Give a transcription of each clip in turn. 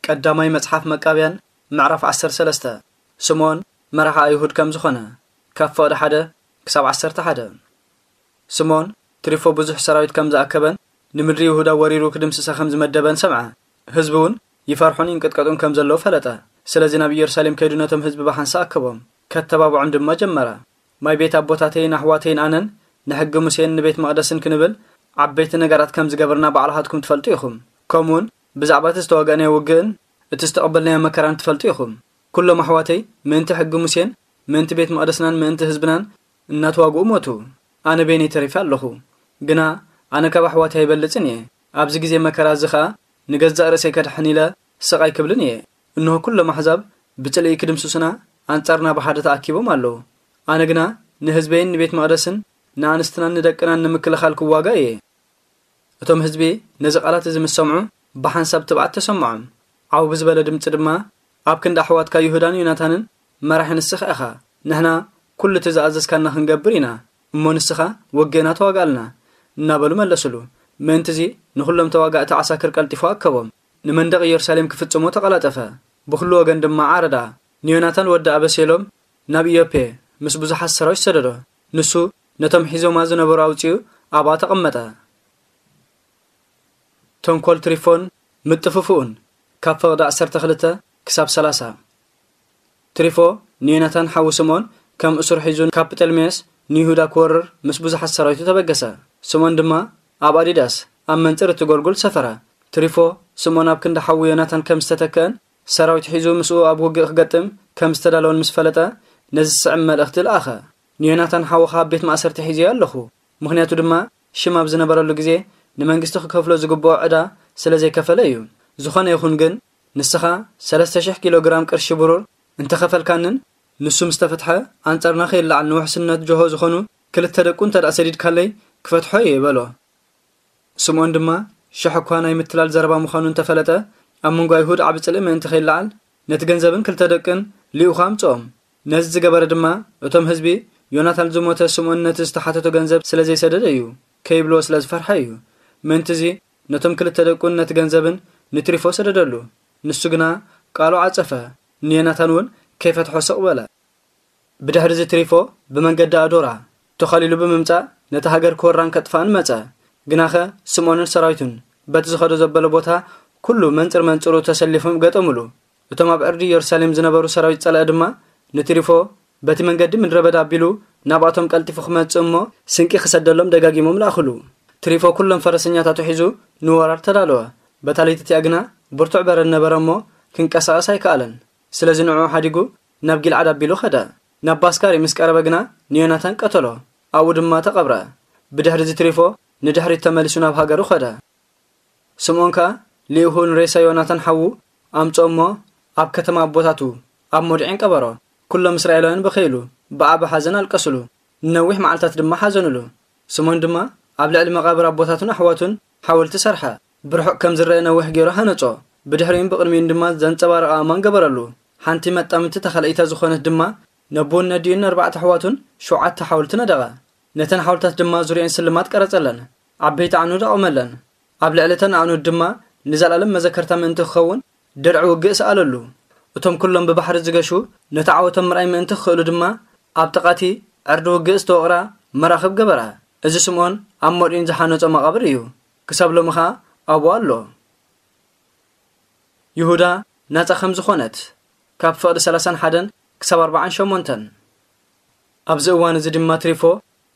ቀዳማይ መጽሓፍ መቃብያን ምዕራፍ ዓሰርተ ሰለስተ። ስምዖን መራሒ ኣይሁድ ከም ዝኾነ፣ ካብ ፍቕዲ ሓደ ክሳብ ዓሰርተ ሓደ። ስምዖን ትሪፎ ብዙሕ ሰራዊት ከም ዝኣከበን ንምድሪ ይሁዳ ወሪሩ ክድምስሳ ከም ዝመደበን ሰምዐ። ህዝቢ እውን ይፈርሑን ይንቅጥቀጡን ከም ዘለዉ ፈለጠ። ስለዚ ናብ ኢየሩሳሌም ከይዱ ነቶም ህዝቢ ብሓንሳ ኣከቦም፣ ከተባብዖም ድማ ጀመረ። ማይ ቤት ኣቦታተይን ኣሕዋተይን ኣነን ንሕጊ ሙሴን ንቤት መቕደስን ክንብል ዓበይቲ ነገራት ከም ዝገበርና ባዕልኻትኩም ትፈልጡ ኢኹም። ከምኡውን ብዛዕባ እቲ ዝተዋጋእናዮ ውግእን እቲ ዝተቐበልናዮ መከራን ትፈልጡ ኢኹም። ኩሎም ኣሕዋተይ ምእንቲ ሕጊ ሙሴን ምእንቲ ቤት መቕደስናን ምእንቲ ህዝብናን እናተዋግኡ ሞቱ። ኣነ በይነይ ተሪፈ ኣለኹ። ግና ኣነ ካብ ኣሕዋተይ ኣይበልጽን እየ። ኣብዚ ግዜ መከራ እዚ ኸኣ ንገዛእ ርእሰይ ከድሕን ኢለ ስቕ ኣይክብልን እየ። እንሆ ኩሎም ኣሕዛብ ብጽልኢ ክድምስሱና ኣንጻርና ብሓደ ተኣኪቦም ኣለዉ። ኣነ ግና ንህዝበይን ንቤት መቕደስን ንኣንስትናን ንደቅናን ንምክልኻል ክዋጋእ እየ። እቶም ህዝቢ ነዚ ቃላት እዚ ምስ ሰምዑ ብሓንሳብ ትብዓት ተሰምዖም። ዓው ብዝበለ ድምጺ ድማ፣ ኣብ ክንዲ ኣሕዋትካ ይሁዳን ዮናታንን መራሒ ንስኻ ኢኻ። ንሕና ኩሉ እቲ ዝኣዘዝካና ክንገብር ኢና፣ እሞ ንስኻ ውግእና ተዋግኣልና እናበሉ መለሱሉ። ምእንቲ እዚ ንኹሎም ተዋጋእቲ ዓሳክር ቀልጢፉ ኣከቦም። ንመንደቕ ኢየሩሳሌም ክፍጽሞ ተቐላጠፈ። ብኹሉ ወገን ድማ ዓረዳ። ንዮናታን ወዲ ኣበሴሎም ናብ ኢዮፔ ምስ ብዙሓት ሰራዊት ሰደዶ። ንሱ ነቶም ሒዞማ ዝነበሩ ኣውጺኡ ኣብኣ ተቐመጠ። ተንኮል ትሪፎን ምጥፍፍኡን፣ ካብ ፍቕዲ ዓሰርተ ክልተ ክሳብ ሰላሳ። ትሪፎ ንዮናታን ሓው ስምዖን ከም እሱር ሒዙ ካብ ጴጠልሜስ ንይሁዳ ክወርር ምስ ብዙሓት ሰራዊቱ ተበገሰ። ስምዖን ድማ ኣብ ኣዲዳስ ኣብ መንጽር እቲ ጎልጎል ሰፈረ። ትሪፎ ስምዖን ኣብ ክንዲ ሓዉ ዮናታን ከም ዝተተክአን ሰራዊት ሒዙ ምስኡ ኣብ ውግእ ክገጥም ከም ዝተዳለወን ምስ ፈለጠ፣ ነዚ ዝስዕብ መልእኽቲ ለኣኸ። ንዮናታን ሓውኻ ኣብ ቤት ማእሰርቲ ሒዘዮ ኣለኹ። ምኽንያቱ ድማ ሽም ኣብ ዝነበረሉ ግዜ ንመንግስቲ ክከፍሎ ዝግብኦ ዕዳ ስለ ዘይከፈለ እዩ። ዝኾነ ይኹን ግን ንስኻ ሰለስተ ሽሕ ኪሎ ግራም ቅርሺ ብሩር እንተኸፈልካንን ንሱ ምስ ተፈትሐ ኣንጻርና ከይለዓል ንውሕስነት ጆሆ ዝኾኑ ክልተ ደቁ እንተ ደኣ ሰዲድካለይ ክፈትሖ እየ በሎ። ስምዖን ድማ ሽሕ እኳ ናይ ምትላል ዘረባ ምዃኑ እንተፈለጠ ኣብ መንጎ ኣይሁድ ዓቢ ጽልኢ ምእንቲ ከይለዓል ነቲ ገንዘብን ክልተ ደቅን ልኢኹ ኣምጽኦም። ነዚ ዝገበረ ድማ እቶም ህዝቢ ዮናታን ዝሞተ ስምዖን ነቲ ዝተሓተቶ ገንዘብ ስለ ዘይሰደደ እዩ ከይብልዎ ስለ ዝፈርሐ እዩ። ምእንቲ እዚ ነቶም ክልተ ደቁን ነቲ ገንዘብን ንትሪፎ ሰደደሉ። ንሱ ግና ቃሉ ዓጸፈ፣ ንዮናታን እውን ከይፈትሖ ስቕ በለ። ብድሕሪ እዚ ትሪፎ ብመንገዲ ኣዶራ ተኸሊሉ ብምምጻእ ነቲ ሃገር ክወራን ከጥፍኣን መጸ። ግናኸ ስምዖንን ሰራዊቱን በቲ ዝኸዶ ዘበለ ቦታ ኩሉ መንጽር መንጽሩ ተሰሊፎም ገጠሙሉ። እቶም ኣብ ዕርዲ ኢየሩሳሌም ዝነበሩ ሰራዊት ጸላኢ ድማ ንትሪፎ በቲ መንገዲ ምድረ በዳ ኣቢሉ ናብኣቶም ቀልጢፉ ክመጽእ እሞ ስንቂ ክሰደሎም ደጋጊሞም ለኣኹሉ። ትሪፎ ኩሎም ፈረሰኛታቱ ሒዙ ንወራር ተዳለወ። በታ ለይቲ እቲኣ ግና ብርቱዕ በረድ ነበረ እሞ ክንቀሳቐስ ኣይከኣለን። ስለዚ ንዕኡ ሓዲጉ ናብ ጊልዓድ ኣቢሉ ኸደ። ናብ ባስካሪ ምስ ቀረበ ግና ንዮናታን ቀተሎ፣ ኣብኡ ድማ ተቐብረ። ብድሕሪ እዚ ትሪፎ ንድሕሪት ተመሊሱ ናብ ሃገሩ ኸደ። ስምዖን ከኣ ልኢኹ ንሬሳ ዮናታን ሓዉ ኣምጽኦ እሞ ኣብ ከተማ ኣቦታቱ ኣብ ሞድዒን ቀበሮ። ኩሎም እስራኤላውያን በኸይሉ፣ ብዓቢ ሓዘን ኣለቀስሉ። ንነዊሕ መዓልታት ድማ ሓዘኑሉ። ስምዖን ድማ ኣብ ልዕሊ መቓብር ኣቦታቱን ኣሕዋቱን ሓወልቲ ሰርሐ። ብርሑቕ ከም ዝረአ ነዊሕ ገይሩ ሃነጾ። ብድሕሪኡን ብቕድሚኡን ድማ ዘንጸባርቕ ኣእማን ገበረሉ። ሓንቲ መጣምቲ ተኻልኢታ ዝኾነት ድማ ነቦን ነዲኡን ኣርባዕተ ኣሕዋቱን ሸውዓተ ሓወልቲ ነደቐ። ነተን ሓወልታት ድማ ዙርየን ስልማት ቀረጸለን። ዓበይቲ ኣዕኑድ ኣቖመለን። ኣብ ልዕሊ እተን ኣዕኑድ ድማ ንዘለኣለም መዘከርታ ምእንቲ ክኸውን ድርዒ ውግእ ሰኣለሉ። እቶም ኩሎም ብባሕሪ ዝገሹ ነቲ ዓወቶም ምርኣይ ምእንቲ ክኽእሉ ድማ ኣብ ጥቓቲ ዕርዲ ውግእ ዝተወቕራ መራኽብ ገበራ። እዚ ስምዖን ኣብ ሞድዒን ዝሓነጾ መቓብር እዩ። ክሳብ ሎሚ ኸኣ ኣብኡ ኣሎ። ይሁዳ ናጻ ከም ዝኾነት፣ ካብ ፍቕዲ ሰላሳን ሓደን ክሳብ ኣርባዓን ሸሞንተን። ኣብዚ እዋን እዚ ድማ ትሪፎ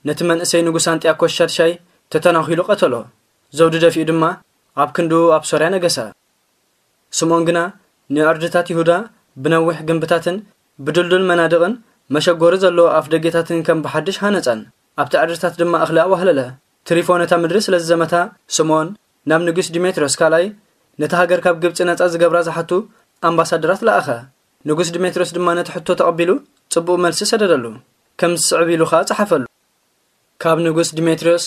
ነቲ መንእሰይ ንጉስ ኣንጢያኮስ ሻድሻይ ተተናኺሉ ቀተሎ። ዘውዲ ደፊኡ ድማ ኣብ ክንድኡ ኣብ ሶርያ ነገሰ። ስምዖን ግና ንዕርድታት ይሁዳ ብነዊሕ ግንብታትን ብድልዱል መናድቕን መሸጎሪ ዘለዎ ኣፍ ደጌታትን ከም ብሓድሽ ሃነጸን። ኣብቲ ዕርድታት ድማ እኽሊ ኣዋህለለ። ትሪፎ ነታ ምድሪ ስለ ዝዘመታ፣ ስምዖን ናብ ንጉስ ዲሜትሪዮስ ካልኣይ ነታ ሃገር ካብ ግብጺ ነጻ ዝገብራ ዝሓቱ ኣምባሳደራት ለኣኸ። ንጉስ ዲሜትሪዮስ ድማ ነቲ ሕቶ ተቐቢሉ ጽቡቕ መልሲ ሰደደሉ። ከም ዝስዕብ ኢሉ ኸኣ ጸሓፈሉ። ካብ ንጉስ ዲሜትሪዮስ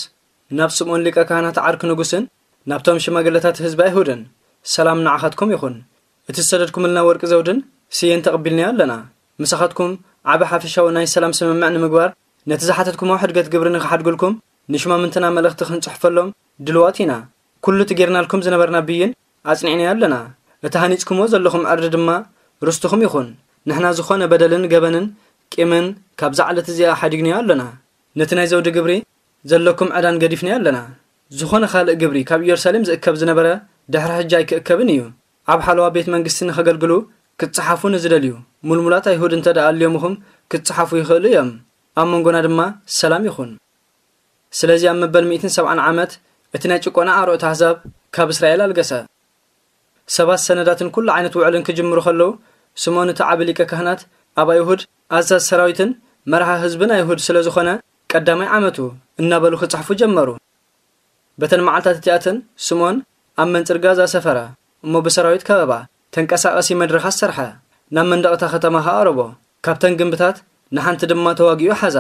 ናብ ስምዖን ሊቀ ካህናት ዓርኪ ንጉስን ናብቶም ሽማግለታት ህዝቢ ኣይሁድን፣ ሰላም ንዓኻትኩም ይኹን። እቲ ዝሰደድኩምልና ወርቂ ዘውድን ስየን ተቐቢልናዮ ኣለና። ምሳኻትኩም ዓቢ ሓፈሻዊ ናይ ሰላም ስምምዕ ንምግባር፣ ነቲ ዝሓተትኩሞ ሕድገት ግብሪ ንኽሓድጉልኩም ንሽማምንትና መልእኽቲ ክንጽሕፈሎም ድልዋት ኢና። ኩሉ እቲ ጌርናልኩም ዝነበርና ብይን ኣጽኒዕናዮ ኣለና። እቲ ሃኒጽኩምዎ ዘለኹም ዕርዲ ድማ ርስትኹም ይኹን። ንሕና ዝኾነ በደልን ገበንን ቂምን ካብዛ ዕለት እዚኣ ሓዲግንዮ ኣሎና። ነቲ ናይ ዘውዲ ግብሪ ዘለኩም ዕዳን ገዲፍንዮ ኣለና። ዝኾነ ካልእ ግብሪ ካብ ኢየሩሳሌም ዝእከብ ዝነበረ ድሕሪ ሕጂ ኣይክእከብን እዩ። ኣብ ሓለዋ ቤት መንግስቲ ንኸገልግሉ ክትጸሓፉ ንዝደልዩ ሙልሙላት ኣይሁድ እንተ ደኣ ኣልዮምኹም ክትጸሓፉ ይኽእሉ እዮም። ኣብ መንጎና ድማ ሰላም ይኹን። ስለዚ ኣብ መበል ሚእትን ሰብዓን ዓመት እቲ ናይ ጭቆና ኣሮእቲ ኣህዛብ ካብ እስራኤል ኣልገሰ። ሰባት ሰነዳትን ኩሉ ዓይነት ውዕልን ክጅምሩ ከለዉ፣ ስምኦን እቲ ዓቢ ሊቀ ካህናት ኣብ ኣይሁድ ኣዛዝ ሰራዊትን መርሃ ህዝብን ኣይሁድ ስለ ዝኾነ ቀዳማይ ዓመቱ እናበሉ ክጽሕፉ ጀመሩ። በተን መዓልታት እቲኣተን ስምኦን ኣብ መንጽር ጋዛ ሰፈረ፣ እሞ ብሰራዊት ከበባ ተንቀሳቐሲ መድረኻት ሰርሐ፣ ናብ መንደቕ እታ ከተማ ኸኣ ኣቕረቦ። ካብተን ግንብታት ንሓንቲ ድማ ተዋጊኡ ሓዛ።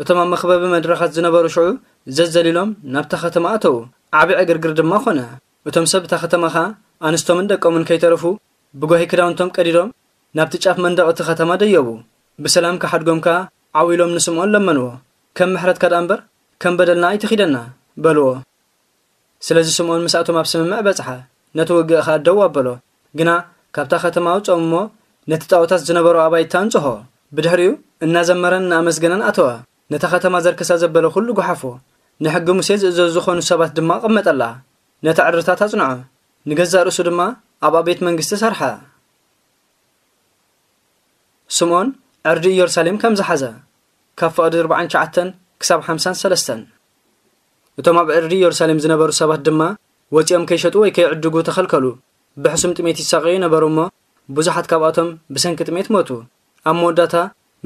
እቶም ኣብ መኽበቢ መድረኻት ዝነበሩ ሽዑ ዘዘሊሎም ናብታ ከተማ ኣተዉ። ዓቢ ዕግርግር ድማ ኾነ። እቶም ሰብ እታ ከተማ ኸኣ ኣንስቶምን ደቆምን ከይተረፉ ብጓሂ ክዳውንቶም ቀዲዶም ናብቲ ጫፍ መንደቕ እቲ ከተማ ደየቡ። ብሰላም ክሓድጎም ከኣ ዓው ኢሎም ንስምኦን ለመንዎ። ከም ምሕረትካ ደኣ እምበር ከም በደልና ኣይትኺደና በልዎ። ስለዚ ስምኦን ምስኣቶም ኣብ ስምምዕ በጽሐ፣ ነቲ ውግእ ኸኣ ደው ኣበሎ። ግና ካብታ ከተማ ኣውጽኦም እሞ ነቲ ጣኦታት ዝነበሮ ኣባይቲ ኣንጽሆ። ብድሕሪኡ እናዘመረን እናኣመስገነን ኣተወ። ነታ ከተማ ዘርክሳ ዘበለ ኩሉ ጓሓፎ። ንሕጊ ሙሴ ዝእዘዙ ዝኾኑ ሰባት ድማ ኣቐመጠላ። ነቲ ዕርድታት ኣጽንዖ። ንገዛእ ርእሱ ድማ ኣብኣ ቤት መንግስቲ ሰርሐ። ስምኦን ዕርዲ ኢየሩሳሌም ከም ዝሓዘ፣ ካብ ፍቕዲ ኣርባዓን ትሽዓተን ክሳብ ሓምሳን ሰለስተን። እቶም ኣብ ዕርዲ ኢየሩሳሌም ዝነበሩ ሰባት ድማ ወጺኦም ከይሸጡ ወይ ከይዕድጉ ተኸልከሉ። ብሕሱም ጥሜት ይሳቐዩ ነበሩ እሞ፣ ብዙሓት ካብኣቶም ብሰንኪ ጥሜት ሞቱ። ኣብ መወዳእታ፣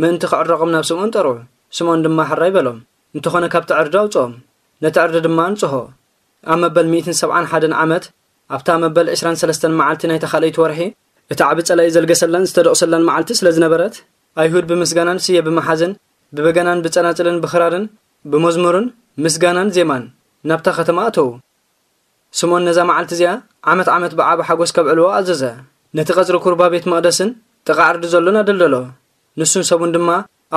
ምእንቲ ክዕረቖም ናብ ስምኦን ጠርዑ። ስምኦን ድማ ሕራይ በሎም። እንተኾነ ካብቲ ዕርዲ ኣውጽኦም። ነቲ ዕርዲ ድማ ኣንጽሆ። ኣብ መበል ሚእትን ሰብዓን ሓደን ዓመት፣ ኣብታ መበል ዕስራን ሰለስተን መዓልቲ ናይታ ካልኣይቲ ወርሒ፣ እቲ ዓቢ ጸላኢ ዘልገሰላን ዝተደቑሰላን መዓልቲ ስለ ዝነበረት፣ ኣይሁድ ብምስጋናን ስየ ብምሓዝን፣ ብበገናን ብጸናጽልን ብኽራርን ብመዝሙርን ምስጋናን ዜማን ናብታ ከተማ ኣተዉ። ስምኦን ነዛ መዓልቲ እዚኣ ዓመት ዓመት ብዓቢ ሓጎስ ከብዕልዎ ኣዘዘ። ነቲ ቀጽሪ ኩርባ ቤት መቕደስን ጥቓ ዕርዲ ዘሎን ኣደልደሎ። ንሱን ሰቡን ድማ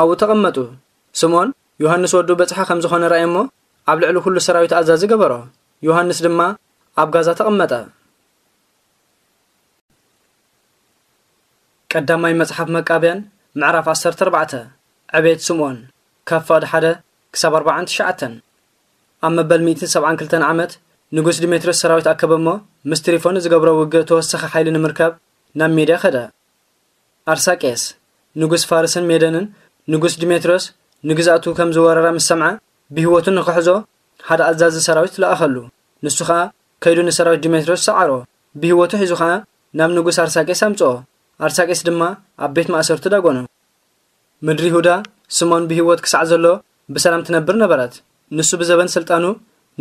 ኣብኡ ተቐመጡ። ስምኦን ዮሃንስ ወዱ በጽሒ ከም ዝኾነ ረኣየ እሞ፣ ኣብ ልዕሊ ኩሉ ሰራዊት ኣዛዚ ገበሮ። ዮሃንስ ድማ ኣብ ጋዛ ተቐመጠ። ቀዳማይ መጽሓፍ መቃብያን ምዕራፍ ዓሰርተ ኣርባዕተ። ዕቤት ስምኦን፣ ካብ ፍቕዲ ሓደ ክሳብ ኣርባዓን ትሽዓተን። ኣብ መበል ሚእትን ሰብዓን ክልተን ዓመት፣ ንጉስ ዲሜትርዮስ ሰራዊት ኣከበ እሞ፣ ምስ ትሪፎን ዝገብሮ ውግእ ተወሳኺ ሓይሊ ንምርካብ ናብ ሜድያ ከደ። ኣርሳቄስ፣ ንጉስ ፋርስን ሜደንን፣ ንጉስ ዲሜትርዮስ ንግዝኣቱ ከም ዝወረረ ምስ ሰምዐ፣ ብህይወቱ ንኽሕዞ ሓደ ኣዛዚ ሰራዊት ለኣኸሉ። ንሱ ኸኣ ከይዱ ንሰራዊት ዲሜትርዮስ ሰዓሮ። ብህይወቱ ሒዙ ኸኣ ናብ ንጉስ ኣርሳቄስ ኣምጽኦ። ኣርሳቄስ ድማ ኣብ ቤት ማእሰርቲ ዳጎኖ። ምድሪ ይሁዳ፣ ስምኦን ብህይወት ክሳዕ ዘሎ ብሰላም ትነብር ነበረት። ንሱ ብዘበን ስልጣኑ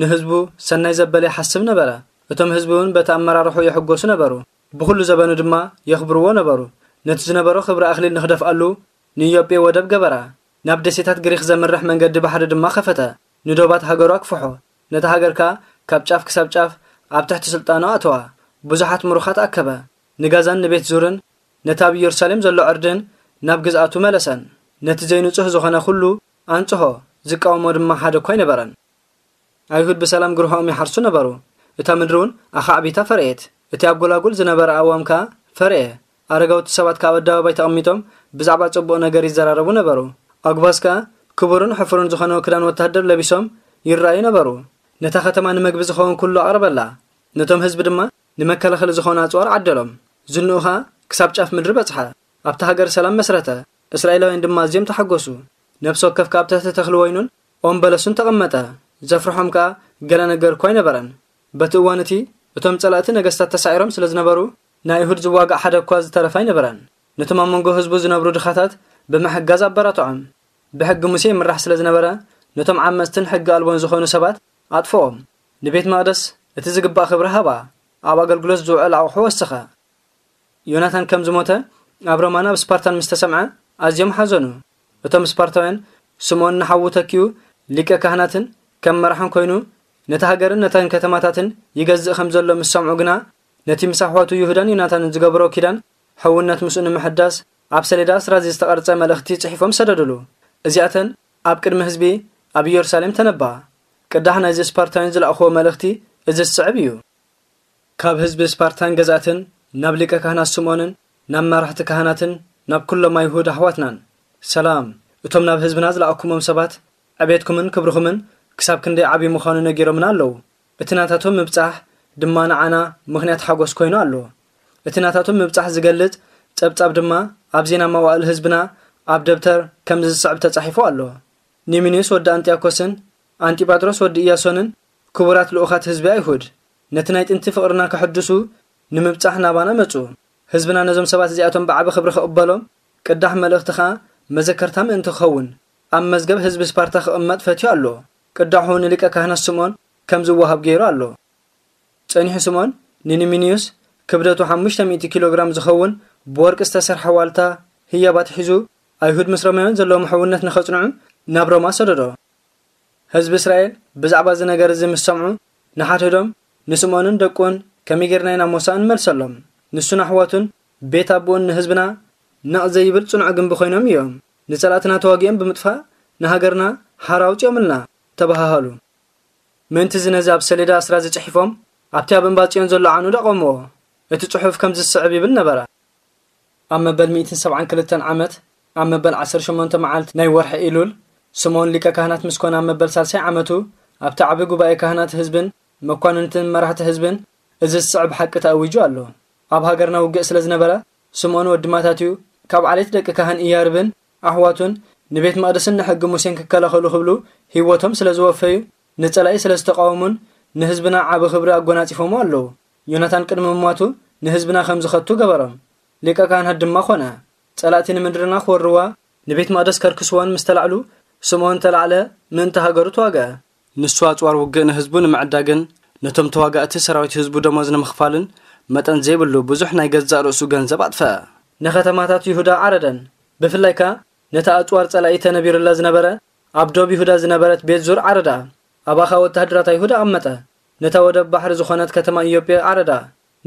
ንህዝቡ ሰናይ ዘበለ ይሓስብ ነበረ። እቶም ህዝቢ እውን በቲ ኣመራርሑ ይሕጎሱ ነበሩ። ብኹሉ ዘበኑ ድማ የኽብርዎ ነበሩ። ነቲ ዝነበሮ ክብሪ ኣኽሊል ንኽደፍኣሉ ንኢዮጴ ወደብ ገበራ። ናብ ደሴታት ግሪኽ ዘምርሕ መንገዲ ባሕሪ ድማ ከፈተ። ንዶባት ሃገሩ ኣክፍሖ። ነታ ሃገር ከኣ ካብ ጫፍ ክሳብ ጫፍ ኣብ ትሕቲ ስልጣኑ ኣእተዋ። ብዙሓት ምሩኻት ኣከበ። ንጋዛን ንቤት ዙርን ነቲ ኣብ ኢየሩሳሌም ዘሎ ዕርድን ናብ ግዝኣቱ መለሰን። ነቲ ዘይንጹህ ዝኾነ ኩሉ ኣንጽሆ፣ ዝቃወሞ ድማ ሓደ እኳ ኣይነበረን። ኣይሁድ ብሰላም ግርሆኦም ይሓርሱ ነበሩ። እታ ምድሪ እውን ኣኻዕቢታ ፈርኤት። እቲ ኣብ ጎላጉል ዝነበረ ኣእዋም ከኣ ፈርኤ። ኣረጋውቲ ሰባት ከኣ ኣብ ኣደባባይ ተቐሚጦም ብዛዕባ ጽቡቕ ነገር ይዘራረቡ ነበሩ። ኣጉባዝ ከኣ ክቡርን ሕፉርን ዝኾነ ክዳን ወታደር ለቢሶም ይረኣዩ ነበሩ። ነታ ከተማ ንመግቢ ዝኸውን ኩሉ ኣቕረበላ። ነቶም ህዝቢ ድማ ንመከላኸሊ ዝኾኑ ኣጽዋር ዓደሎም። ዝንኡ ኸኣ ክሳብ ጫፍ ምድሪ በጽሐ። ኣብታ ሃገር ሰላም መስረተ። እስራኤላውያን ድማ ኣዝዮም ተሓጎሱ። ነፍሲ ወከፍ ከኣ ኣብ ትሕቲ ተኽሊ ወይኑን ኦም በለሱን ተቐመጠ። ዘፍርሖም ከኣ ገለ ነገር እኳ ኣይነበረን። በቲ እዋን እቲ እቶም ጸላእቲ ነገስታት ተሳዒሮም ስለ ዝነበሩ፣ ንኣይሁድ ዝዋጋእ ሓደ እኳ ዝተረፈ ኣይነበረን። ነቶም ኣብ መንጎ ህዝቡ ዝነብሩ ድኻታት ብምሕጋዝ ኣበራትዖም። ብሕጊ ሙሴ ይምራሕ ስለ ዝነበረ፣ ነቶም ዓመጽትን ሕጊ ኣልቦን ዝኾኑ ሰባት ኣጥፍኦም። ንቤት መቕደስ እቲ ዝግባእ ክብሪ ሃባ፣ ኣብ ኣገልግሎት ዝውዕል ኣቑሑ ወሰኸ። ዮናታን ከም ዝሞተ ኣብ ሮማ ናብ ስፓርታን ምስ ተሰምዐ ኣዝዮም ሓዘኑ። እቶም ስፓርታውያን ስምኦን ንሓዉ ተኪኡ ሊቀ ካህናትን ከም መራሕን ኮይኑ ነታ ሃገርን ነተን ከተማታትን ይገዝእ ከም ዘሎ ምስ ሰምዑ ግና፣ ነቲ ምስ ኣሕዋቱ ይሁዳን ዮናታንን ዝገበሮ ኪዳን ሕውነት ምስኡ ንምሕዳስ ኣብ ሰሌዳ ኣስራዚ ዝተቐርጸ መልእኽቲ ጽሒፎም ሰደዱሉ። እዚኣተን ኣብ ቅድሚ ህዝቢ ኣብ ኢየሩሳሌም ተነባ። ቅዳሕ ናይዚ ስፓርታውያን ዝለኣኽዎ መልእኽቲ እዚ ዝስዕብ እዩ። ካብ ህዝቢ ስፓርታን ገዛእትን ናብ ሊቀ ካህናት ስምዖንን ናብ መራሕቲ ካህናትን ናብ ኩሎም ኣይሁድ ኣሕዋትናን፣ ሰላም። እቶም ናብ ህዝብና ዝለኣኩሞም ሰባት ዕቤትኩምን ክብርኹምን ክሳብ ክንደይ ዓቢ ምዃኑ ነጊሮምና ኣለዉ። እቲ ናታቶም ምብጻሕ ድማ ንዓና ምኽንያት ሓጎስ ኮይኑ ኣሎ። እቲ ናታቶም ምብጻሕ ዝገልጽ ጸብጻብ ድማ ኣብ ዜና መዋእል ህዝብና ኣብ ደብተር ከምዚ ዝስዕብ ተጻሒፉ ኣሎ። ኒሚንዮስ ወዲ ኣንጢያኮስን ኣንጢጳጥሮስ ወዲ ኢያሶንን ክቡራት ልኡኻት ህዝቢ ኣይሁድ፣ ነቲ ናይ ጥንቲ ፍቕርና ከሐድሱ ንምብጻሕ ናባና መጹ። ህዝብና ነዞም ሰባት እዚኣቶም ብዓቢ ክብሪ ክቕበሎም፣ ቅዳሕ መልእኽቲ ኸኣ መዘከርታ ምእንቲ ክኸውን ኣብ መዝገብ ህዝቢ ስፓርታ ክቕመጥ ፈትዩ ኣሎ። ቅዳሑ ንሊቀ ካህናት ስምዖን ከም ዝወሃብ ገይሩ ኣሎ። ጸኒሑ ስምዖን ንኒሚንዩስ ክብደቱ ሓሙሽተ ሚእቲ ኪሎ ግራም ዝኸውን ብወርቂ ዝተሰርሐ ዋልታ ህያብ ኣትሒዙ፣ ኣይሁድ ምስ ሮማውያን ዘለዎም ሕውነት ንኸጽንዑ ናብ ሮማ ሰደዶ። ህዝቢ እስራኤል ብዛዕባ እዚ ነገር እዚ ምስ ሰምዑ፣ ንሓድሕዶም፣ ንስምዖንን ደቁን ከመይ ጌርና ኢና ሞሳእ ንመልሰሎም? ንሱን ኣሕዋቱን ቤት ኣቦኡን ንህዝብና ነቕ ዘይብል ጽኑዕ ግንቢ ኮይኖም እዮም። ንጸላእትና ተዋጊኦም ብምጥፋእ ንሃገርና ሓራ ኣውጺኦምልና፣ ተበሃሃሉ። ምእንቲ እዚ ነዚ ኣብ ሰሌዳ ኣስራ እዚ ጽሒፎም ኣብቲ ኣብ እምባ ጽዮን ዘሎ ዓንዲ ኣቖምዎ። እቲ ጽሑፍ ከምዚ ዝስዕብ ይብል ነበረ። ኣብ መበል ሚእትን ሰብዓን ክልተን ዓመት፣ ኣብ መበል ዓሰርተ ሸሞንተ መዓልቲ ናይ ወርሒ ኢሉል፣ ስምዖን ሊቀ ካህናት ምስ ኮነ ኣብ መበል ሳልሳይ ዓመቱ፣ ኣብቲ ዓቢ ጉባኤ ካህናት ህዝብን መኳንንትን መራሕቲ ህዝብን እዚ ዝስዕብ ሓቂ ተኣዊጁ ኣሎ። ኣብ ሃገርና ውግእ ስለ ዝነበረ፣ ስምዖን ወዲ ማታትዩ ካብ ዓሌት ደቂ ካህን ኢያርብን ኣሕዋቱን ንቤት መቕደስን ንሕጊ ሙሴን ክከላኸሉ ክብሉ ህይወቶም ስለ ዝወፈዩ፣ ንጸላኢ ስለ ዝተቃወሙን ንህዝብና ዓቢ ክብሪ ኣጎናጺፎሞ ኣለዉ። ዮናታን ቅድሚ ምሟቱ ንህዝብና ከም ዝኸቱ ገበሮም። ሊቀ ካህናት ድማ ኮነ። ጸላእቲ ንምድርና ክወርዋ፣ ንቤት መቕደስ ከርክስዋን ምስ ተላዕሉ፣ ስምዖን ተላዕለ፣ ምእንቲ ሃገሩ ተዋግአ። ንሱ ኣጽዋር ውግእ ንህዝቡ ንምዕዳግን ነቶም ተዋጋእቲ ሰራዊት ህዝቡ ደሞዝ ንምኽፋልን መጠን ዘይብሉ ብዙሕ ናይ ገዛእ ርእሱ ገንዘብ ኣጥፈአ። ንከተማታት ይሁዳ ዓረደን። ብፍላይ ከኣ ነታ ኣጽዋር ጸላኢ ተነቢሩላ ዝነበረ ኣብ ዶብ ይሁዳ ዝነበረት ቤት ዙር ዓረዳ። ኣባኻ ወተሃደራት ኣይሁድ ኣቐመጠ። ነታ ወደብ ባሕሪ ዝኾነት ከተማ ኢዮጴ ዓረዳ።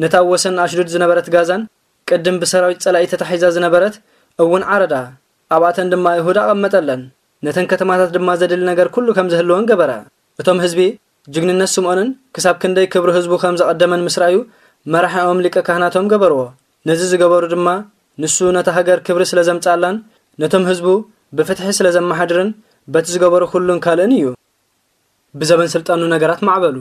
ነታ ኣብ ወሰን ኣሽዱድ ዝነበረት ጋዛን ቅድም ብሰራዊት ጸላኢ ተታሒዛ ዝነበረት እውን ዓረዳ። ኣብኣተን ድማ ኣይሁድ ኣቐመጠለን። ነተን ከተማታት ድማ ዘድሊ ነገር ኩሉ ከም ዝህልወን ገበረ። እቶም ህዝቢ ጅግንነት ስምዖንን ክሳብ ክንደይ ክብሪ ህዝቡ ከም ዘቐደመን ምስ ረኣዩ፣ መራሒኦም ሊቀ ካህናቶም ገበርዎ። ነዚ ዝገበሩ ድማ ንሱ ነታ ሃገር ክብሪ ስለ ዘምጽኣላን ነቶም ህዝቡ ብፍትሒ ስለ ዘመሓድርን በቲ ዝገበሮ ኩሉን ካልእን እዩ። ብዘበን ስልጣኑ ነገራት ማዕበሉ።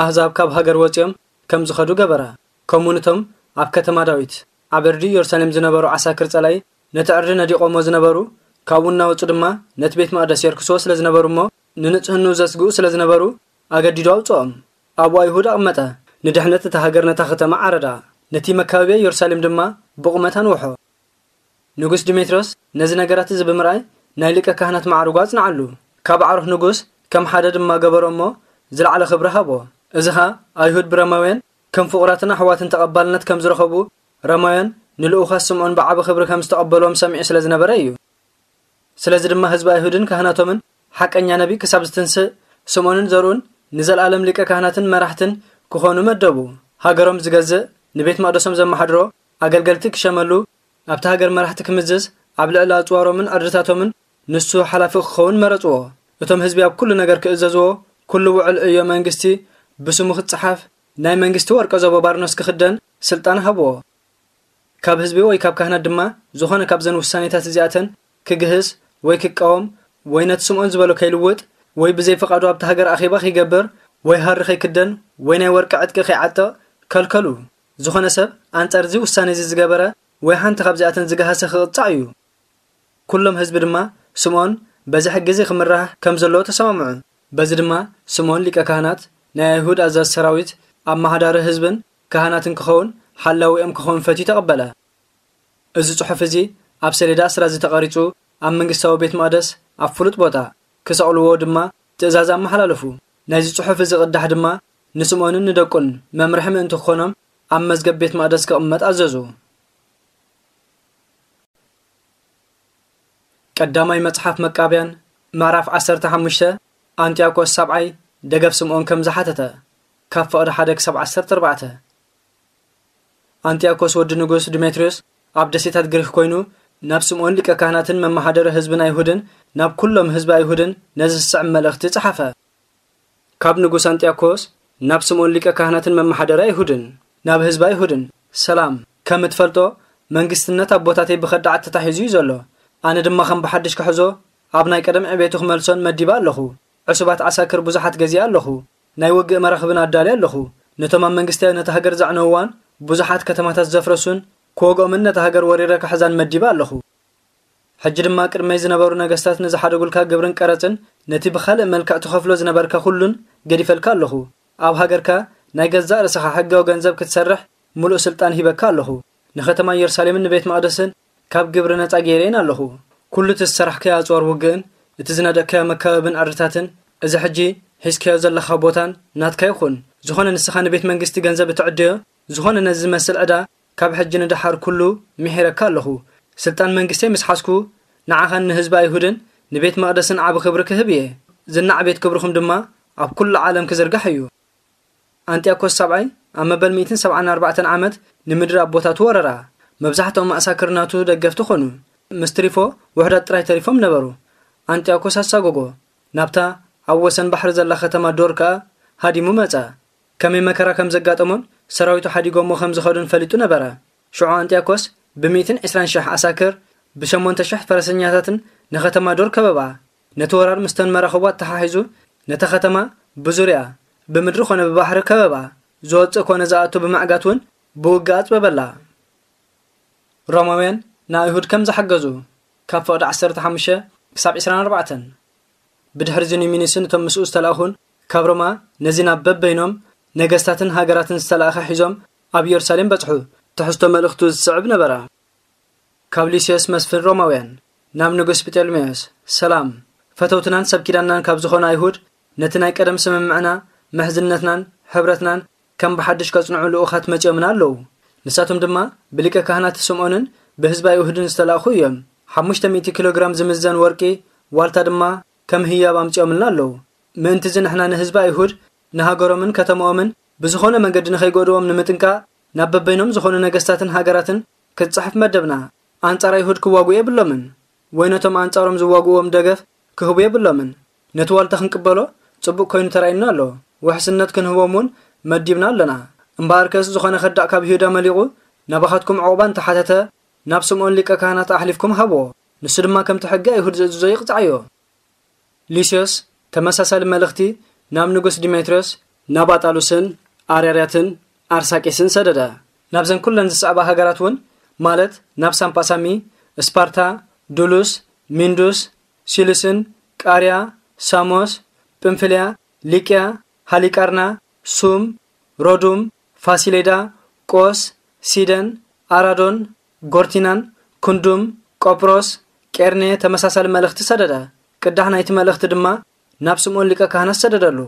ኣህዛብ ካብ ሃገር ወጺኦም ከም ዝኸዱ ገበረ። ከምኡ ንቶም ኣብ ከተማ ዳዊት፣ ኣብ ዕርዲ ኢየሩሳሌም ዝነበሩ ዓሳክር ጸላኢ ነቲ ዕርዲ ነዲቖሞ ዝነበሩ፣ ካብኡ እናወጹ ድማ ነቲ ቤት መቕደስ የርክስዎ ስለ ዝነበሩ እሞ ንንጽህንኡ ዘስግኡ ስለ ዝነበሩ ኣገዲዱ ኣውጽኦም። ኣብኡ ኣይሁድ ኣቕመጠ። ንድሕነት እታ ሃገር ነታ ከተማ ዓረዳ። ነቲ መካበብያ ኢየሩሳሌም ድማ ብቑመት ኣንውሖ። ንጉስ ዲሜትሮስ ነዚ ነገራት እዚ ብምርኣይ ናይ ሊቀ ካህናት ማዕርጉ ኣጽንዓሉ። ካብ ኣዕሩኽ ንጉስ ከም ሓደ ድማ ገበሮ እሞ ዝለዓለ ክብሪ ሃቦ። እዚ ኸኣ ኣይሁድ ብረማውያን ከም ፍቑራትን ኣሕዋትን ተቐባልነት ከም ዝረኸቡ ረማውያን ንልኡኻት ስምዖን ብዓቢ ክብሪ ከም ዝተቐበልዎም ሰሚዑ ስለ ዝነበረ እዩ። ስለዚ ድማ ህዝቢ ኣይሁድን ካህናቶምን ሓቀኛ ነቢ ክሳብ ዝትንስእ ስምዖንን ዘርኡን ንዘለኣለም ሊቀ ካህናትን መራሕትን ክኾኑ መደቡ። ሃገሮም ዝገዝእ ንቤት መቕደሶም ዘመሓድሮ ኣገልገልቲ ክሸመሉ ኣብቲ ሃገር መራሕቲ ክምዝዝ ኣብ ልዕሊ ኣጽዋሮምን ዕርድታቶምን ንሱ ሓላፊ ክኸውን መረጽዎ። እቶም ህዝቢ ኣብ ኩሉ ነገር ክእዘዝዎ ኩሉ ውዕል ዕዮ መንግስቲ ብስሙ ክጸሓፍ ናይ መንግስቲ ወርቀ ዘቦ ባርኖስ ክኽደን ስልጣን ሃብዎ። ካብ ህዝቢ ወይ ካብ ካህናት ድማ ዝኾነ ካብዘን ውሳኔታት እዚኣተን ክግህስ ወይ ክቃወም ወይ ነቲ ስምዖን ዝበሎ ከይልውጥ ወይ ብዘይ ፍቓዱ ኣብቲ ሃገር ኣኼባ ከይገብር ወይ ሃሪ ከይክደን ወይ ናይ ወርቂ ዕጥቂ ከይዓጥቕ ከልከሉ። ዝኾነ ሰብ ኣንጻር እዚ ውሳኔ እዚ ዝገበረ ወይ ሓንቲ ካብዚኣተን ዝገሃሰ ክቕጻዕ እዩ። ኩሎም ህዝቢ ድማ ስምዖን በዚ ሕጊ እዚ ክምራሕ ከም ዘለዎ ተሰማምዑ። በዚ ድማ ስምዖን ሊቀ ካህናት ናይ ኣይሁድ ኣዛዚ ሰራዊት ኣመሓዳሪ ህዝብን ካህናትን ክኸውን ሓላዊኦም ክኸውን ፈትዩ ተቐበለ። እዚ ጽሑፍ እዚ ኣብ ሰሌዳ ኣስራዚ ተቐሪጹ ኣብ መንግስታዊ ቤት መቕደስ ኣብ ፍሉጥ ቦታ ክሰቕልዎ ድማ ትእዛዝ ኣመሓላለፉ። ናይዚ ጽሑፍ እዚ ቅዳሕ ድማ ንስምዖንን ንደቁን መምርሒ ምእንቲ ክኾኖም ኣብ መዝገብ ቤት መቕደስ ክቕመጥ ኣዘዙ። ቀዳማይ መጽሓፍ መቃብያን ምዕራፍ ዓሰርተ ሓሙሽተ። ኣንጢያኮስ ሳብዓይ ደገፍ ስምዖን ከም ዝሓተተ ካብ ፍቕዲ ሓደ ክሳብ ዓሰርተ ኣርባዕተ። ኣንጢያኮስ ወዲ ንጉስ ዲሜትሪዮስ ኣብ ደሴታት ግሪክ ኮይኑ ናብ ስምዖን ሊቀ ካህናትን መመሓደሪ ህዝብን ኣይሁድን ናብ ኩሎም ህዝቢ ኣይሁድን ነዚ ዝስዕብ መልእኽቲ ጸሓፈ። ካብ ንጉስ ኣንጢያኮስ ናብ ስምዖን ሊቀ ካህናትን መመሓደሪ ኣይሁድን ናብ ህዝቢ ኣይሁድን ሰላም። ከም እትፈልጦ፣ መንግስትነት ኣቦታተይ ብኸዳዓት ተታሒዙ እዩ ዘሎ። ኣነ ድማ ከም ብሓድሽ ክሕዞ፣ ኣብ ናይ ቀደም ዕቤቱ ክመልሶን መዲበ ኣለኹ። ዕሱባት ዓሳክር ብዙሓት ገዚኣ ኣለኹ። ናይ ውግእ መራኽብን ኣዳልየ ኣለኹ። ነቶም ኣብ መንግስቲ ነታ ሃገር ዘዕነውዋን ብዙሓት ከተማታት ዘፍረሱን ክወግኦምን ነታ ሃገር ወሪረ ክሕዛን መዲበ ኣለኹ። ሕጂ ድማ ቅድመይ ዝነበሩ ነገስታት ንዝሓደጉልካ ግብርን ቀረጽን ነቲ ብኻልእ መልክዕ ትኸፍሎ ዝነበርካ ኩሉን ገዲፈልካ ኣለኹ። ኣብ ሃገርካ ናይ ገዛእ ርእስኻ ሕጋዊ ገንዘብ ክትሰርሕ ምሉእ ስልጣን ሂበካ ኣለኹ። ንኸተማ ኢየሩሳሌምን ንቤት መቕደስን ካብ ግብሪ ነጻ ገይረየን ኣለኹ። ኩሉ እቲ ዝሰራሕካዮ ኣጽዋር ውግእን እቲ ዝነደቅካዮ መካበብን ዕርድታትን፣ እዚ ሕጂ ሒዝካዮ ዘለኻ ቦታን ናትካ ይኹን። ዝኾነ ንስኻ ንቤት መንግስቲ ገንዘብ እትዕድዮ፣ ዝኾነ ነዚ ዝመስል ዕዳ ካብ ሕጂ ንደሓር ኩሉ ምሒረካ ኣለኹ። ስልጣን መንግስተይ ምስ ሓዝኩ፣ ንዓኻን ንህዝቢ ኣይሁድን ንቤት መቕደስን ዓቢ ክብሪ ክህብ እየ። ዝናዕ ቤት ክብርኹም ድማ ኣብ ኩሉ ዓለም ክዝርጋሕ እዩ። ኣንጢዮኮስ ሳብዓይ ኣብ መበል ሚእትን ሰብዓን ኣርባዕተን ዓመት ንምድሪ ኣቦታቱ ወረራ። መብዛሕትኦም ኣሳክር ናቱ ደገፍቲ ኾኑ። ምስ ትሪፎ ውሑዳት ጥራይ ተሪፎም ነበሩ። ኣንጢዮኮስ ኣሳጎጎ። ናብታ ኣብ ወሰን ባሕሪ ዘላ ከተማ ዶር ከኣ ሃዲሙ መጸ። ከመይ መከራ ከም ዘጋጠሞን ሰራዊቱ ሓዲጎሞ ከም ዝኸዱን ፈሊጡ ነበረ። ሽዑ ኣንጢዮኮስ ብሚእትን ዕስራን ሽሕ ኣሳክር፣ ብሸሞንተ ሽሕ ፈረሰኛታትን ንኸተማ ዶር ከበባ። ነቲ ወራር ምስተን መራኽቡ ኣተሓሒዙ፣ ነታ ከተማ ብዙርያ፣ ብምድሪ ኮነ ብባሕሪ ከበባ። ዝወጽእ ኮነ ዝኣቱ ብምዕጋት እውን ብውግእ ኣጽበበላ። ሮማውያን ንኣይሁድ ከም ዝሓገዙ፣ ካብ ፍቕዲ ዓሰርተ ሓሙሽተ ክሳብ ዕስራን ኣርባዕተን። ብድሕሪ እዚ ኒሚኒስን እቶም ምስኡ ዝተላእኹን ካብ ሮማ ነዚ ናብ በበይኖም ነገስታትን ሃገራትን ዝተላእኸ ሒዞም ኣብ ኢየሩሳሌም በጽሑ። ትሕዝቶ መልእኽቱ ዝስዕብ ነበረ። ካብ ሉስዮስ መስፍን ሮማውያን ናብ ንጉስ ጲጦልሜዎስ። ሰላም። ፈተውትናን ሰብ ኪዳንናን ካብ ዝኾኑ ኣይሁድ ነቲ ናይ ቀደም ስምምዕና፣ ምሕዝነትናን ሕብረትናን ከም ብሓድሽ ከጽንዑ ልኡኻት መጺኦምና ኣለዉ። ንሳቶም ድማ ብሊቀ ካህናት ስምዖንን ብህዝቢ ኣይሁድን ዝተላእኹ እዮም። ሓሙሽተ ሚእቲ ኪሎ ግራም ዝምዘን ወርቂ፣ ዋልታ ድማ ከም ህያብ ኣምጺኦምልና ኣለዉ። ምእንቲ እዚ ንሕና ንህዝቢ ኣይሁድ ንሃገሮምን ከተማኦምን ብዝኾነ መንገዲ ንኸይጎድዎም ንምጥንቃቕ ናብ በበይኖም ዝኾኑ ነገስታትን ሃገራትን ክትጽሕፍ መደብና። ኣንጻር ኣይሁድ ክዋግኡ የብሎምን፣ ወይ ነቶም ኣንጻሮም ዝዋግእዎም ደገፍ ክህቡ የብሎምን። ነቲ ዋልታ ክንቅበሎ ጽቡቕ ኮይኑ ተራእዩና ኣሎ። ውሕስነት ክንህቦም እውን መዲብና ኣለና። እምበኣርከስ ዝኾነ ከዳዕ ካብ ይሁዳ መሊቑ ናባኻትኩም ዕቑባ እንተሓተተ፣ ናብ ስምዖን ሊቀ ካህናት ኣሕሊፍኩም ሃብዎ። ንሱ ድማ ከምቲ ሕጊ ኣይሁድ ዝእዝዞ ይቕጻዓዮ። ሉስዮስ ተመሳሳሊ መልእኽቲ ናብ ንጉስ ዲሜትርዮስ፣ ናብ ኣጣሉስን ኣርያርያትን ኣርሳቂስን ሰደደ። ናብዘን ኩለን ዝስዕባ ሃገራት እውን፣ ማለት ናብ ሳምፓሳሚ፣ ስፓርታ፣ ዱሉስ፣ ሚንዱስ፣ ሲሉስን፣ ቃርያ፣ ሳሞስ፣ ጵንፍልያ፣ ሊቅያ፣ ሃሊቃርና፣ ሱም፣ ሮዱም፣ ፋሲሌዳ፣ ቆስ፣ ሲደን፣ ኣራዶን፣ ጎርቲናን፣ ክንዱም፣ ቆጵሮስ፣ ቄርኔ ተመሳሳሊ መልእኽቲ ሰደደ። ቅዳሕ ናይቲ መልእኽቲ ድማ ናብ ስምዖን ሊቀ ካህናት ሰደደሉ።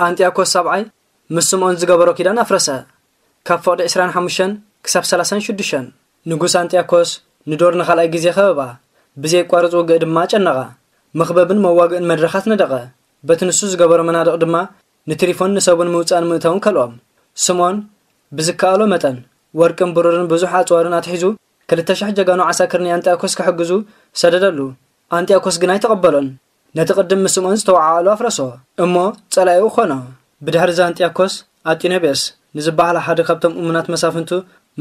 ኣንጢያኮስ ሳብዓይ ምስ ስምዖን ዝገበሮ ኪዳን ኣፍረሰ። ካብ ፍቕዲ ዕስራን ሓሙሽተን ክሳብ ሰላሳን ሽዱሽተን። ንጉስ ኣንጢያኮስ ንዶር ንኻልኣይ ግዜ ከበባ። ብዘየቋርጽ ውግእ ድማ ጨነቓ። መኽበብን መዋግእን መድረኻት ነደቐ። በቲ ንሱ ዝገበሮ መናድቕ ድማ ንትሪፎን ንሰቡን ምውጻእን ምእታውን ከልኦም። ስምዖን ብዝከኣሎ መጠን ወርቅን ብሩርን ብዙሕ ኣጽዋርን ኣትሒዙ፣ ክልተ ሽሕ ጀጋኑ ዓሳክር ንኣንጢያኮስ ክሕግዙ ሰደደሉ። ኣንጢያኮስ ግን ኣይተቐበሎን። ነቲ ቅድም ምስ ስምዖን ዝተወዓዓሉ ኣፍረሶ፣ እሞ ጸላኢኡ ኾኖ። ብድሕሪ እዚ ኣንጢያኮስ ኣጢኖብዮስ ንዝበሃል ሓደ ካብቶም እሙናት መሳፍንቱ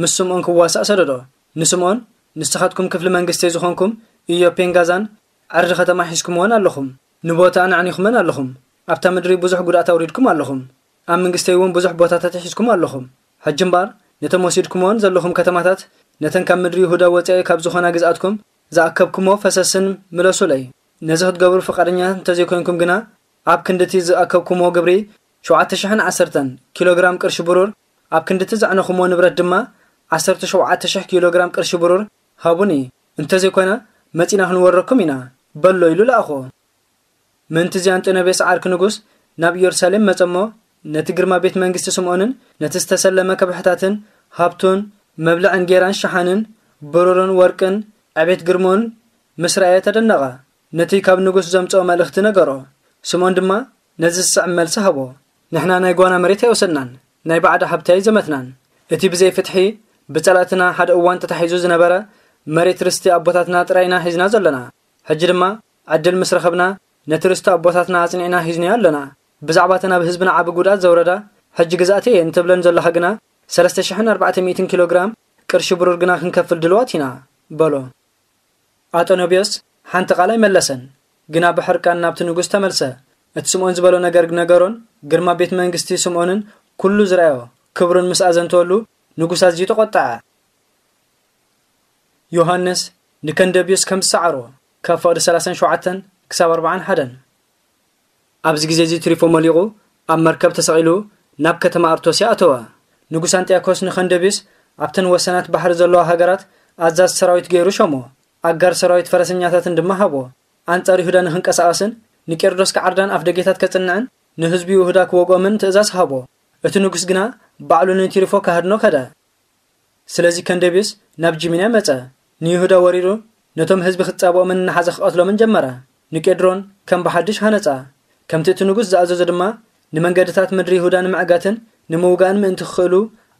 ምስ ስምዖን ክዋሳእ ሰደዶ። ንስምዖን፣ "ንስኻትኩም ክፍሊ መንግስተይ ዝኾንኩም ኢዮፔን ጋዛን ዕርዲ ከተማ ሒዝኩምወን ኣለኹም። ንቦታኣን ኣዕኒኹመን ኣለኹም። ኣብታ ምድሪ ብዙሕ ጉድኣት ኣውሪድኩም ኣለኹም። ኣብ መንግስተይ እውን ብዙሕ ቦታታት ሒዝኩም ኣለኹም። ሕጂ እምበኣር፣ ነተን ወሲድኩምወን ዘለኹም ከተማታት፣ ነተን ካብ ምድሪ ይሁዳ ወጻኢ ካብ ዝኾና ግዝኣትኩም ዝኣከብኩምዎ ፈሰስን ምለሱለይ። ነዚ ክትገብሩ ፍቓደኛታት እንተዘይኮይንኩም ግና፣ ኣብ ክንድቲ ዝኣከብኩምዎ ግብሪ ሸውዓተ ሽሕን ዓሰርተን ኪሎ ግራም ቅርሺ ብሩር፣ ኣብ ክንድቲ ዘዕነኹምዎ ንብረት ድማ ዓሰርተ ሸውዓተ ሽሕ ኪሎ ግራም ቅርሺ ብሩር ሃቡኒ። እንተዘይኮነ፣ መጺና ክንወረኩም ኢና" በሎ ኢሉ ለኣኾ። ምእንቲ እዚ ኣንጢኖብዮስ ዓርኪ ንጉስ ናብ ኢየሩሳሌም መጸ እሞ፣ ነቲ ግርማ ቤት መንግስቲ ስምዖንን ነቲ ዝተሰለመ ከብሕታትን ሃብቱን፣ መብልዕን ጌራን ሸሓንን፣ ብሩርን ወርቅን፣ ዕቤት ግርሙን ምስ ረኣየ ተደነቐ። ነቲ ካብ ንጉስ ዘምጽኦ መልእኽቲ ነገሮ። ስምዖን ድማ ነዚ ዝስዕብ መልሲ ሃቦ። "ንሕና ናይ ጓና መሬት ኣይወሰድናን፣ ናይ ባዕዳ ሃብቲ ኣይዘመትናን። እቲ ብዘይ ፍትሒ ብጸላእትና ሓደ እዋን ተታሒዙ ዝነበረ መሬት ርስቲ ኣቦታትና ጥራይ ኢና ሒዝና ዘለና። ሕጂ ድማ ዕድል ምስ ረኸብና ነቲ ርስቲ ኣቦታትና ኣጽኒዕና ሒዝናዮ ኣለና። ብዛዕባ እተን ኣብ ህዝብና ዓቢ ጉድኣት ዘውረዳ ሕጂ ግዝኣተይ እየን ትብለን ዘለኻ ግና ሰለስተ ሽሕን ኣርባዕተ ሚእትን ኪሎ ግራም ቅርሺ ብሩር ግና ክንከፍል ድልዋት ኢና በሎ። ኣጠኖብዮስ ሓንቲ ቃል ኣይመለሰን፣ ግና ብሕርቃን ናብቲ ንጉስ ተመልሰ። እቲ ስምዖን ዝበሎ ነገር ነገሮን ግርማ ቤት መንግስቲ ስምዖንን ኩሉ ዝረኣዮ ክብሩን ምስ ኣዘንተወሉ ንጉስ ኣዝዩ ተቖጠዐ። ዮሃንስ ንከንደብዮስ ከም ዝሰዓሮ ካብ ፍቕዲ ሰላሳን ሸውዓተን ክሳብ ኣርባዓን ሓደን። ኣብዚ ግዜ እዚ ትሪፎ መሊቑ ኣብ መርከብ ተሰቒሉ ናብ ከተማ ኣርቶስያ ኣተወ። ንጉስ ኣንጢያኮስ ንኸንደብዮስ ኣብተን ወሰናት ባሕሪ ዘለዋ ሃገራት ኣዛዝ ሰራዊት ገይሩ ሸሞ። ኣጋር ሰራዊት ፈረሰኛታትን ድማ ሃቦ። ኣንጻር ይሁዳ ንኽንቀሳቐስን ንቄርዶስ ክዓርዳን ኣፍ ደጌታት ከጽንዕን ንህዝቢ ይሁዳ ክወግኦምን ትእዛዝ ሃቦ። እቲ ንጉስ ግና ባዕሉ ንትሪፎ ክሃድኖ ከደ። ስለዚ ከንደብዮስ ናብ ጂሚንያ መጸ። ንይሁዳ ወሪሩ ነቶም ህዝቢ ክጻብኦምን እናሓዘ ክቐትሎምን ጀመረ። ንቄድሮን ከም ብሓድሽ ሃነጻ። ከምቲ እቲ ንጉስ ዝኣዘዞ ድማ ንመንገድታት ምድሪ ይሁዳ ንምዕጋትን ንምውጋእን ምእንቲ ክኽእሉ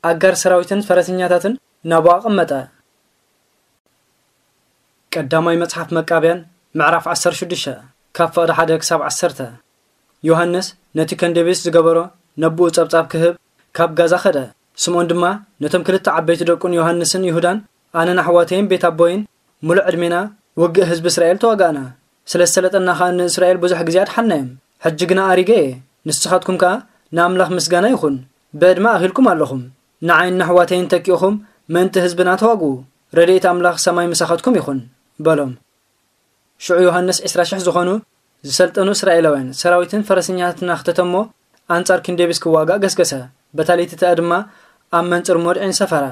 ኣጋር ሰራዊትን ፈረሰኛታትን ናብኡ ኣቐመጠ። ቀዳማይ መጽሓፍ መቃብያን ምዕራፍ ዓሰርተ ሽዱሽተ ካብ ፍቕዲ ሓደ ክሳብ ዓሰርተ። ዮሃንስ ነቲ ከንደብዮስ ዝገበሮ ነብኡ ጸብጻብ ክህብ ካብ ጋዛ ኸደ። ስምዖን ድማ ነቶም ክልተ ዓበይቲ ደቁን ዮሃንስን ይሁዳን ኣነን ኣሕዋተይን ቤት ኣቦይን ምሉእ ዕድሜና ውግእ ህዝቢ እስራኤል ተዋጋእና። ስለ ዝሰለጠና ኸኣ ንእስራኤል ብዙሕ ግዜ ኣድሓንናዮም። ሕጂ ግና ኣሪገ እየ። ንስኻትኩም ከኣ ንኣምላኽ ምስጋና ይኹን። ብዕድመ ኣኺልኩም ኣለኹም። ንዓይን ንኣሕዋተይን ተኪእኹም ምእንቲ ህዝብና ተዋግኡ። ረድኤት ኣምላኽ ሰማይ ምሳኻትኩም ይኹን በሎም። ሽዑ ዮሃንስ ዕስራ ሽሕ ዝኾኑ ዝሰልጠኑ እስራኤላውያን ሰራዊትን ፈረሰኛታትን ኣኽተተ እሞ ኣንጻር ክንዴብስ ክዋጋእ ገስገሰ። በታ ለይቲ እቲኣ ድማ ኣብ መንጽር ሞድዒን ሰፈረ።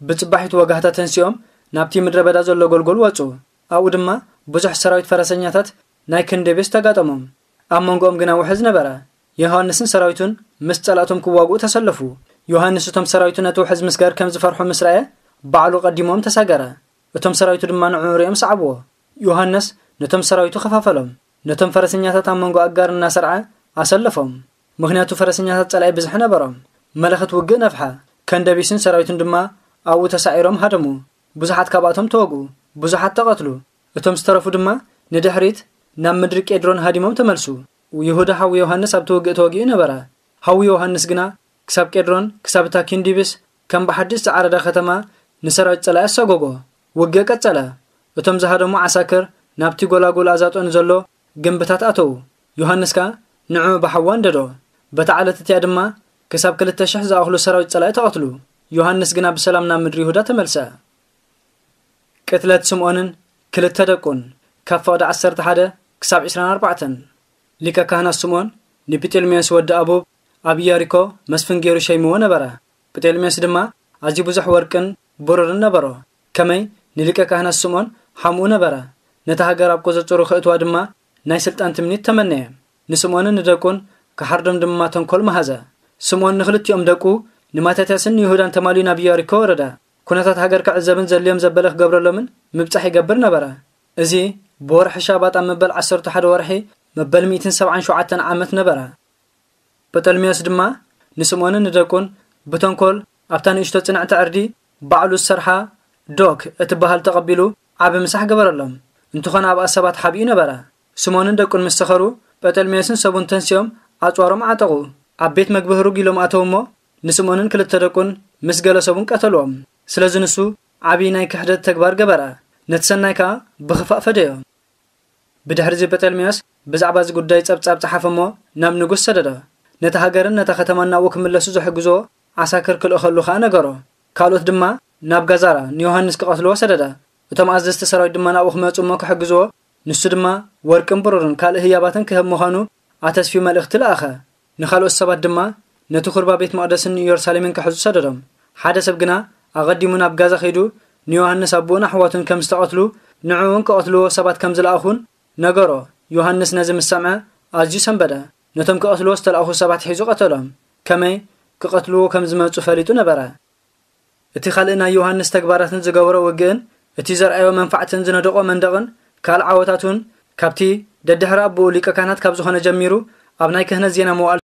ብጽባሒቱ ወጋሕታ ተንሲኦም ናብቲ ምድረ በዳ ዘሎ ጎልጎል ወጹ። ኣብኡ ድማ ብዙሕ ሰራዊት ፈረሰኛታት ናይ ክንዴብስ ተጋጠሞም። ኣብ መንጎኦም ግና ውሕዝ ነበረ። ዮሃንስን ሰራዊቱን ምስ ጸላእቶም ክዋግኡ ተሰለፉ። ዮሃንስ እቶም ሰራዊቱ ነቲ ውሕዝ ምስጋር ከም ዝፈርሑ ምስ ረኣየ ባዕሉ ቀዲሞም ተሳገረ። እቶም ሰራዊቱ ድማ ንዕኡ ሪኦም ሰዓብዎ። ዮሃንስ ነቶም ሰራዊቱ ከፋፈሎም። ነቶም ፈረሰኛታት ኣብ መንጎ ኣጋር እናሰርዐ ኣሰለፎም። ምኽንያቱ ፈረሰኛታት ጸላኢ ብዝሒ ነበሮም። መለኸት ውግእ ነፍሐ። ከንደቢስን ሰራዊቱን ድማ ኣብኡ ተሳዒሮም ሃደሙ። ብዙሓት ካብኣቶም ተወግኡ። ብዙሓት ተቐትሉ። እቶም ዝተረፉ ድማ ንድሕሪት ናብ ምድሪ ቄድሮን ሃዲሞም ተመልሱ። ይሁዳ ሓው ዮሃንስ ኣብቲ ውግእ ተወጊኡ ነበረ። ሓው ዮሃንስ ግና ክሳብ ቄድሮን፣ ክሳብ እታ ኪንዲብስ ከም ብሓድሽ ዝዓረዳ ከተማ ንሰራዊት ጸላኢ ኣሰጎጎ። ውግእ ቀጸለ። እቶም ዝሃደሙ ዓሳክር ናብቲ ጎላጉል ኣዛጦ ንዘሎ ግንብታት ኣተዉ። ዮሃንስ ከኣ ንዕኡ ብሓዊ ኣንደዶ። በታ ዓለት እቲኣ ድማ ክሳብ ክልተ ሽሕ ዝኣኽሉ ሰራዊት ጸላኢ ተቐትሉ። ዮሃንስ ግና ብሰላም ናብ ምድሪ ይሁዳ ተመልሰ። ቅትለት ስምዖንን ክልተ ደቁን ካብ ፍቕዲ ዓሰርተ ሓደ ክሳብ ዕስራን ኣርባዕተን። ሊቀ ካህናት ስምዖን ንጲጤልሜዎስ ወዲ ኣቡብ ኣብ ኢያሪኮ መስፍን ገይሩ ሸይምዎ ነበረ። ጲጤልሜዎስ ድማ ኣዝዩ ብዙሕ ወርቅን ብሩርን ነበሮ። ከመይ ንሊቀ ካህናት ስምዖን ሓምኡ ነበረ። ነታ ሃገር ኣብ ቁጽጽሩ ከእትዋ ድማ ናይ ስልጣን ትምኒት ተመነየ። ንስምዖንን ንደቁን ክሓርዶም ድማ ተንኮል መሃዘ። ስምዖን ንኽልቲኦም ደቁ ንማታትያስን ንይሁዳን ተማልዩ ናብ ኢያሪኮ ወረደ። ኩነታት ሃገር ክዕዘብን ዘድልዮም ዘበለ ክገብረሎምን ምብጻሕ ይገብር ነበረ። እዚ ብወርሒ ሻባጥ ኣብ መበል ዓሰርተ ሓደ ወርሒ መበል ሚእትን ሰብዓን ሸውዓተን ዓመት ነበረ። ጴጠልሜዎስ ድማ ንስምዖንን ንደቁን ብተንኮል ኣብታ ንእሽቶ ጽንዕቲ ዕርዲ ባዕሉ ዝሰርሓ ዶክ እትበሃል ተቐቢሉ ዓቢ ምሳሕ ገበረሎም። እንተኾነ ኣብኣ ሰባት ሓቢኡ ነበረ። ስምዖንን ደቁን ምስ ሰኸሩ፣ ጴጠልሜዎስን ሰቡን ተንሲኦም ኣጽዋሮም ዓጠቑ። ኣብ ቤት መግቢ ህሩግ ኢሎም ኣተዉ እሞ፣ ንስምዖንን ክልተ ደቁን ምስ ገለ ሰቡን ቀተልዎም። ስለዚ ንሱ ዓቢ ናይ ክሕደት ተግባር ገበረ። ነቲ ሰናይ ከኣ ብኽፋእ ፈደዮ። ብድሕሪ እዚ ጴጠልሜዎስ ብዛዕባ እዚ ጉዳይ ጸብጻብ ጸሓፈ እሞ ናብ ንጉስ ሰደዶ። ነታ ሃገርን ነታ ከተማን ናብኡ ክምለሱ ዝሕግዝዎ ዓሳክር ክልእኸሉ ከኣ ነገሮ። ካልኦት ድማ ናብ ጋዛራ ንዮሃንስ ክቐትልዎ ሰደደ። እቶም ኣዘዝቲ ሰራዊት ድማ ናብኡ ክመጹ እሞ ክሕግዝዎ፣ ንሱ ድማ ወርቅን ብሩርን ካልእ ህያባትን ክህብ ምዃኑ ኣተስፍዩ መልእኽቲ ለኣኸ። ንኻልኦት ሰባት ድማ ነቲ ኹርባ ቤት መቕደስን ንኢየሩሳሌምን ክሕዙ ሰደዶም። ሓደ ሰብ ግና ኣቐዲሙ ናብ ጋዛ ከይዱ ንዮሃንስ ኣቦኡን ኣሕዋቱን ከም ዝተቐትሉ ንዕኡን ክቐትልዎ ሰባት ከም ዝለኣኹን ነገሮ። ዮሃንስ ነዚ ምስ ሰምዐ ኣዝዩ ሰንበደ። ነቶም ክቐትልዎ ዝተለኣኹ ሰባት ሒዙ ቀተሎም። ከመይ ክቐትልዎ ከም ዝመጹ ፈሊጡ ነበረ። እቲ ካልእ ናይ ዮሃንስ ተግባራትን ዝገበሮ ውግእን እቲ ዘርኣዮ መንፋዕትን ዝነደቖ መንደቕን ካልእ ዓወታቱን ካብቲ ደድሕሪ ኣቦኡ ሊቀ ካህናት ካብ ዝኾነ ጀሚሩ ኣብ ናይ ክህነት ዜና መዋዕል